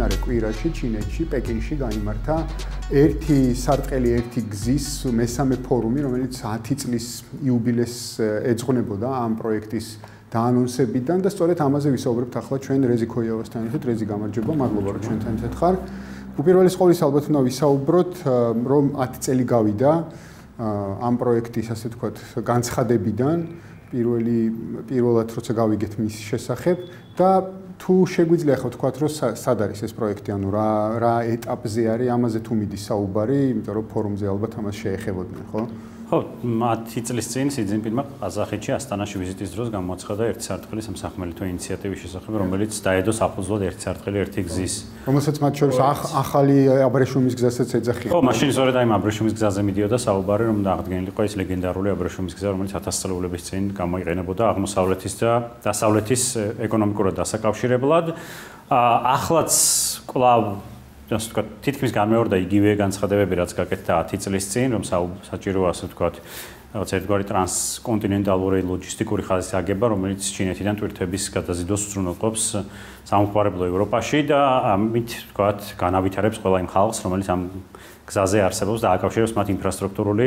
მიმდინარე კვირაში ჩინეთში, პეკინში გაიმართა ერთი სარტყელი ერთი გზის მესამე ფორუმი, რომელიც 10 წლის იუბილეს ეძღვნებოდა ამ პროექტის დაანონსებიდან და სწორედ ამაზე ვისაუბრებთ ახლა ჩვენ რეზი ქოიავასთან ერთად. რეზი, გამარჯობა, მადლობა რომ ჩვენთან ერთად ხარ. უპირველეს ყოვლისა ალბათ უნდა ვისაუბროთ, რომ 10 წელი გავიდა ამ პროექტის, ასე ვთქვათ, განცხადებიდან, პირველად როცა გავიგეთ მის შესახებ და თუ შეგვიძლია ხო ვთქვათ, რომ სად არის ეს პროექტი, ანუ რა ეტაპზე არის, ამაზე თუ მიდის საუბარი, იმიტომ რომ ფორუმზე ალბათ ამას შეეხებოდნენ, ხო? ხო, 10 წლის წინ სი ძინპინმა ყაზახეთში ასტანაში ვიზიტის დროს გამოაცხადა ერთი სარტყელი სამსახმელეთო ინიციატივის შესახებ, რომელიც დაედო საფუძვლად ერთი სარტყელი ერთი გზის. რომელსაც მათ შორის ახალი აბრეშუმის გზასაც ეძახიან. ხო, მაშინ სწორედ აი აბრეშუმის გზაზე მიდიოდა საუბარი, რომ აღდგენილიყო ეს ლეგენდარული აბრეშუმის გზა, რომელიც 1000 წლების წინ გამოიყენებოდა აღმოსავლეთის და დასავლეთის ეკონომიკურად დასაკავშირებლად. ახლაც კვლავ ასე ვთქვათ, თითქმის განმეორდა იგივე განცხადებები, რაც გაკეთდა 10 წლის წინ, რომ საჭიროა ასე ვთქვათ, რაღაც ერთგვარი ტრანსკონტინენტალური ლოჯისტიკური ხაზის აგება, რომელიც ჩინეთიდან ტვირთების გადაზიდვას უზრუნველყოფს სამხმარებლო ევროპაში და ამით ვთქვათ, განავითარებს ყველა იმ ხალხს, რომელიც ამ გზაზე არსებობს და აკავშირებს მათ ინფრასტრუქტურული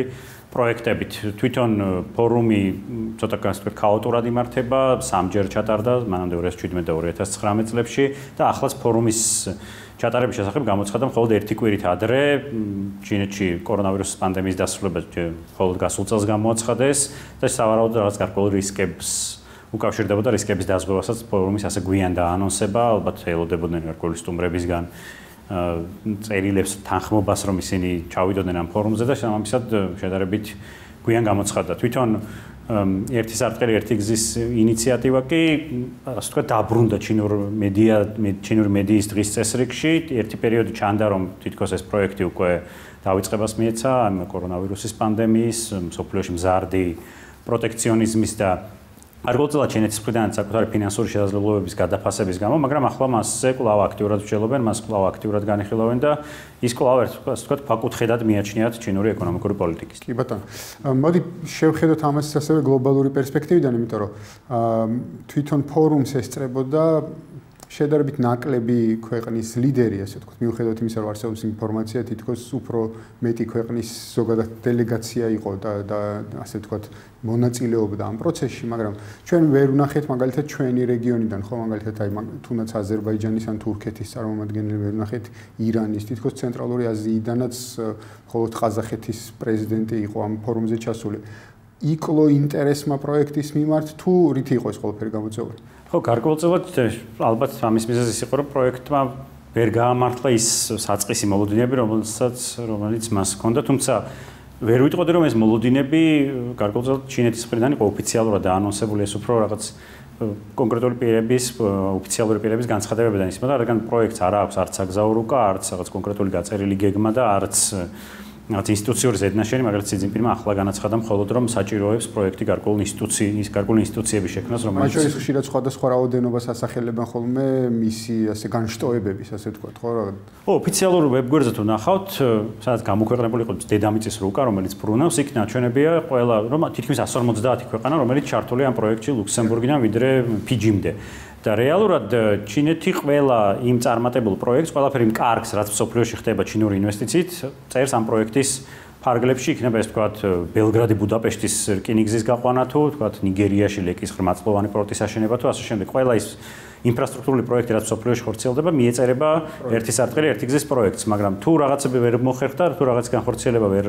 პროექტებით. თვითონ ფორუმი ცოტა ასე ვთქვათ, ქაოტურად იმართება, სამჯერ ჩატარდა, მანამდე 2017 და 2019 წლებში და ახლაც ფორუმის ჩატარების შესახებ გამოცხადდა მხოლოდ ერთი კვირით ადრე ჩინეთში კორონავირუსის პანდემიის დასრულება მხოლოდ გასულ წელს გამოაცხადეს და სავარაუდოდ რაღაც გარკვეული რისკებს უკავშირდებოდა რისკების დაზღვევასაც ფორუმის ასე გვიან დაანონსება, ალბათ ელოდებოდნენ გარკვეული სტუმრებისგან წერილებს თანხმობას, რომ ისინი ჩავიდოდნენ ამ ფორუმზე და შესაბამისად შედარებით გვიან გამოცხადდა. თვითონ ერთი სარტყელი ერთი გზის ინიციატივა კი ასე ვთქვათ დაბრუნდა ჩინური მედიის დღის წესრიგში. ერთი პერიოდი ჩანდა, რომ თითქოს ეს პროექტი უკვე დაიწყებას მიეცა ამ კორონავირუსის პანდემიის, მსოფლიოში მზარდი პროტექციონიზმის და გარკვეულწილად ჩინეთის მხრიდან საკუთარი ფინანსური შესაძლებლობების გადაფასების გამო, მაგრამ ახლა მასზე კვლავ აქტიურად ვშელობენ, მას კვლავ აქტიურად განიხილავენ და ის კვლავ ასე ვთქვათ, ფაკუთხედად მიაჩნიათ ჩინური ეკონომიკური პოლიტიკის. კი ბატონო. მოდი შევხედოთ ამას ასევე გლობალური პერსპექტივიდან, იმიტომ რომ თვითონ ფორუმს ესწრებოდა შედარებით ნაკლები ქვეყნის ლიდერი, ასე ვთქვათ, მიუხედავად იმისა, რომ არსებობს ინფორმაცია, თითქოს უფრო მეტი ქვეყნის ზოგადად დელეგაცია იყო და ასე ვთქვათ, მონაწილეობდა ამ პროცესში, მაგრამ ჩვენ ვერ ვნახეთ მაგალითად ჩვენი რეგიონიდან, ხო, მაგალითად აი თუნდაც აზერბაიჯანის ან თურქეთის წარმომადგენლები ვერ ვნახეთ ირანის, თითქოს ცენტრალური აზიიდანაც მხოლოდ ყაზახეთის პრეზიდენტი იყო ამ ფორუმზე ჩასული. იკლო ინტერესმა პროექტის მიმართ თუ რითი იყო ეს ყველაფერი გამოწვეული? ხო, გარკვეულწილად ალბათ ამის მიზეზი ის იყო, რომ პროექტმა ვერ გაამართლა ის საწყისი მოლოდინები, რომელიც მას ჰქონდა, თუმცა ვერ ვიტყოდი, რომ ეს მოლოდინები გარკვეულწილად ჩინეთის მხრიდან იყო ოფიციალურად დაანონსებული, ეს უფრო რაღაც კონკრეტული პირების, ოფიციალური პირების განცხადებებიდან ისმოდა, რადგან პროექტს არ აქვს არც საგზაო რუკა, არც რაღაც კონკრეტული გაწერილი გეგმა და არც რაღაც ინსტიტუციური ზედნაშენი, მაგრამ სი ძინპინმა ახლა განაცხადა მხოლოდ რომ საჭიროებს პროექტი გარკვეული ინსტიტუციების შექმნას, რომელიც მათ შორის ხშირად სხვადასხვა რაოდენობას ასახელებენ ხოლმე მისი ასე განშტოებების, ასე ვთქვათ, ხო რა? ხო, ოფიციალურ ვებგვერდზე თუ ნახავთ, სადაც გამოქვეყნებული იყო დედამიწის რუკა, რომელიც ბრუნავს, იქ ნაჩვენებია ყველა, რომ თითქმის 150 ქვეყანა, რომელიც ჩართულია ამ პროექტში ლუქსემბურგიდან ვიდრე ფიჯიმდე. და რეალურად ჩინეთი ყველა იმ წარმატებულ პროექტს, ყველაფერი იმ კარგს, რაც მსოფლიოში ხდება ჩინური ინვესტიციით, წერს ამ პროექტის ფარგლებში, იქნება ეს ვთქვათ ბელგრადი ბუდაპეშტის რკინიგზის გაყვანა თუ ვთქვათ ნიგერიაში ლეკის ღრმაწლოვანი პორტის აშენება თუ ასე შემდეგ. ყველა ის ინფრასტრუქტურული პროექტი, რაც მსოფლიოში ხორციელდება, მიეწერება ერთი სარტყელი ერთი გზის პროექტს, მაგრამ თუ რაღაცები ვერ მოხერხდა, თუ რაღაც განხორციელება ვერ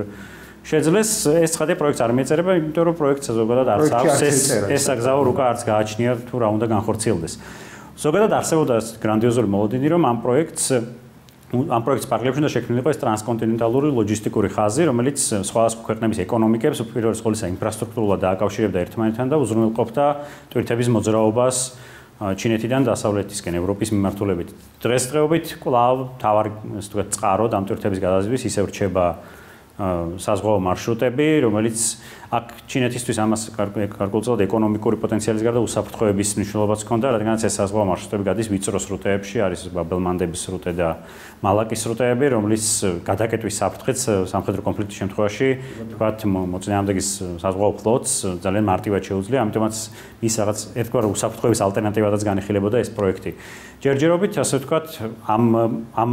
შეძლეს, ეს ცხადია პროექტს არ მიეწერება, იმიტომ რომ პროექტს ზოგადად არც აქვს ეს საგზაო რუკა არც გააჩნია თუ რა უნდა განხორციელდეს. ზოგადად არსებობდა გრანდიოზული მოლოდინი, რომ ამ პროექტის პარალელში უნდა შექმნილიყო ეს ტრანსკონტინენტალური ლოჯისტიკური ხაზი, რომელიც სხვადასხვა ქვეყნების ეკონომიკებს უპირველეს ყოვლისა ინფრასტრუქტურულად დააკავშირებდა ერთმანეთთან და უზრუნველყოფდა ტვირთების მოძრაობას ჩინეთიდან დასავლეთისკენ ევროპის მიმართულებით. დღესდღეობით კვლავ თავარი, ასე ვთქვათ, წყარო ამ ტვირთების გადაზიდვის ისევ რჩება საზღვაო მარშრუტები, რომელიც აქ ჩინეთისთვის ამას გარკვეულწილად ეკონომიკური პოტენციალის გარდა უსაფრთხოების მნიშვნელობაც ჰქონდა, რადგანაც ეს საზღვაო მარშრუტები გადის ვიწრო სრუტეებში, არის ბაბელმანდების სრუტე და მალაკის სრუტეები, რომლის გადაკეტვის საფრთხეც სამხედრო კონფლიქტის შემთხვევაში, თქვათ, მოწინააღმდეგის საზღვაო ფლოტს ძალიან მარტივად შეუძლია, ამიტომაც ის რაღაც ერთგვარ უსაფრთხოების ალტერნატივადაც განიხილებოდა ეს პროექტი. ჯერჯერობით, ასე ვთქვათ, ამ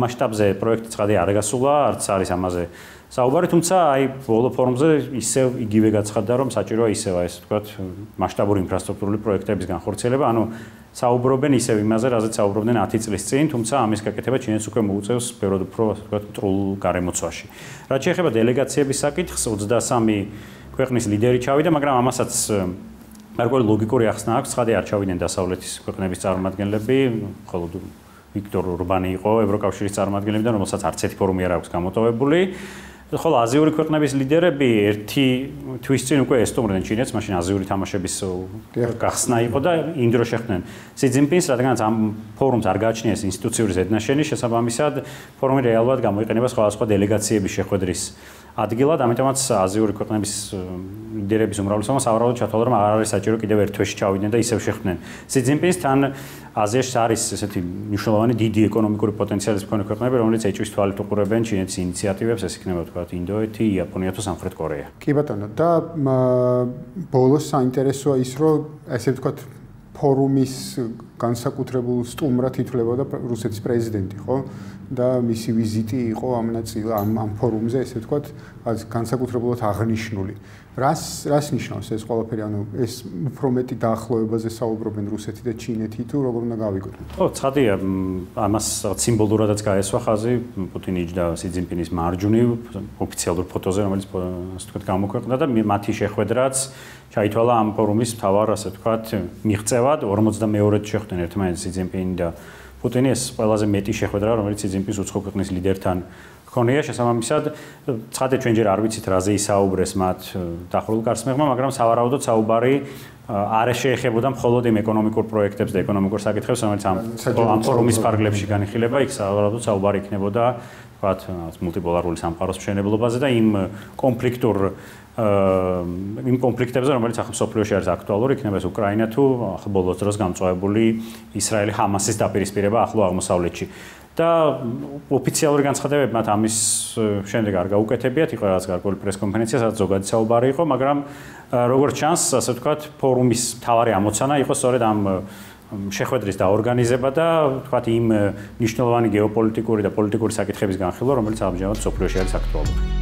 მასშტაბზე პროექტი ცხადი არ გასულა, არც არის ამაზე საუბარი, თუმცა აი ბოლო ფორუმზე ისევ იგივე გაცხადდა, რომ საჭიროა ისევ ეს ვთქვათ მასშტაბური ინფრასტრუქტურული პროექტების განხორციელება, ანუ საუბრობენ ისევ იმაზე, რაზეც საუბრობდნენ 10 წლის წინ, თუმცა ამის გაკეთება ჩინეთს უკვე მოუწევს ბევრად უფრო ვთქვათ მტრულ გარემოცვაში. რაც შეეხება დელეგაციების საკითხს, 23 ქვეყნის ლიდერი ჩავიდა, მაგრამ ამასაც გარკვეული ლოგიკური ახსნა აქვს, ცხადი არ ჩავიდნენ დასავლეთის ქვეყნების წარმომადგენლები, მხოლოდ ვიქტორ ურბანი იყო ევროკავშირის წარმომადგენლებიდან, რომელსაც არც ერთი ფორუმი არ აქვს გამოტოვებული. ხოლო აზიური ქვეყნების ლიდერები ერთი თვის წინ უკვე ესტუმრდნენ ჩინეთს, მაშინ აზიური თამაშების გახსნა იყო და იმ დროს შეხვდნენ სი ძინპინს, რადგანაც ამ ფორუმს არ გააჩნიეს ინსტიტუციური ზედნაშენი, შესაბამისად ფორუმი რეალურად გამოიყენება სხვადასხვა დელეგაციების შეხვედრის ადგილად, ამიტომაც აზიური ქვეყნების ლიდერების უმრავლესობა სავარაუდოდ ჩათვალა, რომ არ არის საჭირო კიდევ ერთ თვეში ჩავიდნენ და ისევ შეხვდნენ სი ძინპინს. თან აზიაში არის ესეთი მნიშვნელოვანი დიდი ეკონომიკური პოტენციალის მქონე ქვეყნები, რომელიც ეჭვის თვალით უყურებენ ჩინეთის ინიციატივებს, ეს იქნება თქვათ ინდოეთი, იაპონია თუ სამხრეთ კორეა. კი ბატონო, და ბოლოს საინტერესოა ის, რომ ესე ვთქვათ ფორუმის განსაკუთრებულ სტუმრად ითვლებოდა რუსეთის პრეზიდენტი, ხო? და მისი ვიზიტი იყო ამ ფორუმზე, ესე ვთქვათ, განსაკუთრებულად აღნიშნული. რას ნიშნავს ეს ყველაფერი? ანუ ეს უფრო მეტი დაახლოებაზე საუბრობენ რუსეთი და ჩინეთი თუ როგორ უნდა გავიგოთ? ხო, ცხადია, ამას სიმბოლურადაც გაესვა ხაზი პუტინის და სი ძინპინის მარჯვნივ ოფიციალურ ფოტოზე, რომელიც ასე ვთქვათ გამოქვეყნდა და მათი შეხვედრაც ჩაითვალა ამ ფორუმის მთავარ, ასე ვთქვათ, მიღწევად 42-ად შეხვდნენ ერთმანეთს სი ძინპინი და პუტინი. ეს ყველაზე მეტი შეხვედრა, რომელიც სი ძინპინს უცხო ქვეყნის ლიდერთან ქონია, შესაბამისად, ცხადეთ ჩვენ ჯერ არ ვიცით რაზე ისაუბრეს მათ დახურულ გარსმევმა, მაგრამ სავარაუდოდ საუბარი არ შეეხებოდა მხოლოდ იმ ეკონომიკურ პროექტებს და ეკონომიკურ საკითხებს, რომელიც ამ ფორუმის ფარგლებში განიხილება, იქ სავარაუდოდ საუბარი იქნებოდა, ვთქვათ, მულტიპოლარული სამყაროს მშენებლობაზე და იმ კონფლიქტებზე, რომელიც ახლა მსოფლიოში არის აქტუალური, იქნება ეს უკრაინა თუ ახლა ბოლოს დროს გამწვავებული ისრაელი-ჰამასის დაპირისპირება ახლო აღმოსავლეთში. და ოფიციალური განცხადებები მათ ამის შემდეგ არ გაუკეთებიათ, იყო რაღაც გარკვეული პრესკონფერენცია, სადაც ზოგადი საუბარი იყო, მაგრამ როგორც ჩანს, ასე ვთქვათ, ფორუმის მთავარი ამოცანა იყო სწორედ ამ შეხვედრის დაორგანიზება და ვთქვათ იმ მნიშვნელოვანი გეოპოლიტიკური და პოლიტიკური საკითხების განხილვა, რომელიც ამჟამად მსოფლიოში არის აქტუალური.